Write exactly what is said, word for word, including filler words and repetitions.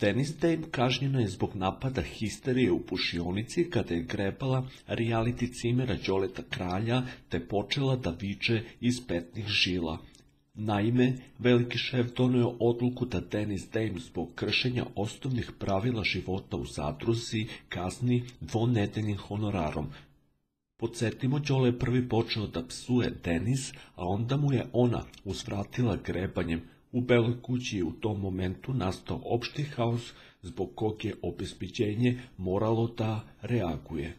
Dennis Dame kažnjena je zbog napada histerije u pušionici kada je grebala reality cimera Đoleta Kralja te počela da viče iz petnih žila. Naime, veliki šef doneo je odluku da Dennis Dame zbog kršenja osnovnih pravila života u zadruzi kazni dvonedeljnim honorarom. Podsjetimo, Đole je prvi počeo da psuje Dennis, a onda mu je ona uzvratila grebanjem. U Beloj kući je u tom momentu nastao opšti haos zbog kog je obezbeđenje moralo da reaguje.